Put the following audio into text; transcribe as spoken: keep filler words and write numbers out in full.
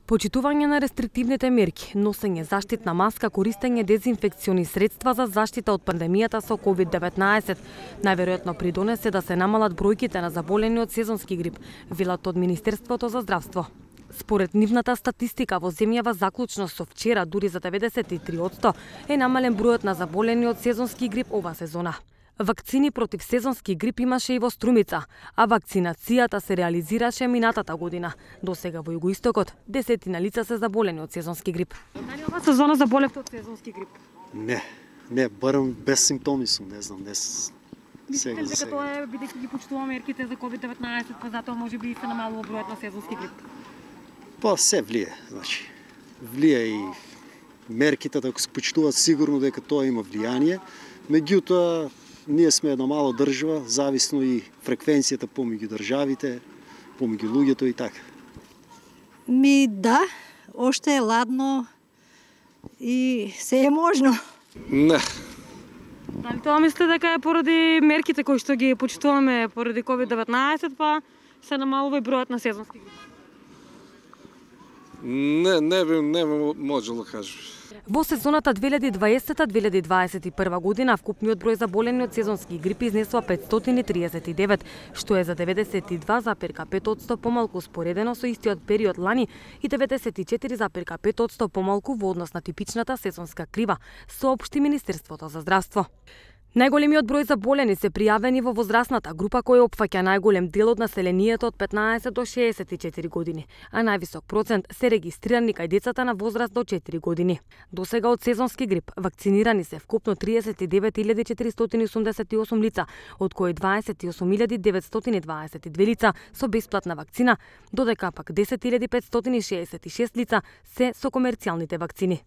Почитување на рестриктивните мерки, носење заштитна маска, користење дезинфекциони средства за заштита од пандемијата со ковид деветнаесет најверојатно придонесе да се намалат бројките на заболени од сезонски грип, велат од Министерството за здравство. Според нивната статистика во земјава заклучно со вчера дури за деветдесет и три одсто е намален бројот на заболени од сезонски грип ова сезона. Вакцини против сезонски грип имаше и во Струмица, а вакцинацијата се реализираше минатата година. До сега во Југоистокот десетина лица се заболени од сезонски грип. Дали ова сезона заболевте од сезонски грип? Не, не, барам без симптоми сум, не знам, не с... Мислите дека тоа е бидејќи ги почитуваме мерките за ковид деветнаесет, па затоа можеби се намалува бројот на сезонски грип? Па се влие, значи. Влие и мерките, ако се почитуваат сигурно дека тоа има влијание, меѓутоа ние сме една мала држава, зависно и фреквенцијата помеѓу државите, помеѓу луѓето и така. Ми да, оште е ладно и се е можно. Не. Дали тоа мислите дека е поради мерките кои што ги почитуваме поради ковид деветнаесет, па се намалува и бројот на сезонски грип? Не, не би, не би можел да кажем. Во сезоната две илјади и дваесета две илјади дваесет и прва година вкупниот број заболени од сезонски грип изнесува петстотини и триесет и девет, што е за деветдесет и два зарез пет одсто помалку споредено со истиот период лани и деветдесет и четири зарез пет одсто помалку во однос на типичната сезонска крива, соопшти Министерството за здравство. Најголемиот број заболени се пријавени во возрастната група која опфаќа најголем дел од населението од петнаесет до шеесет и четири години, а највисок процент се регистрирани кај децата на возраст до четири години. До сега од сезонски грип вакцинирани се вкупно триесет и девет илјади четиристотини и осумдесет и осум лица, од кои дваесет и осум илјади деветстотини дваесет и две лица со бесплатна вакцина, додека пак десет илјади петстотини шеесет и шест лица се со комерцијалните вакцини.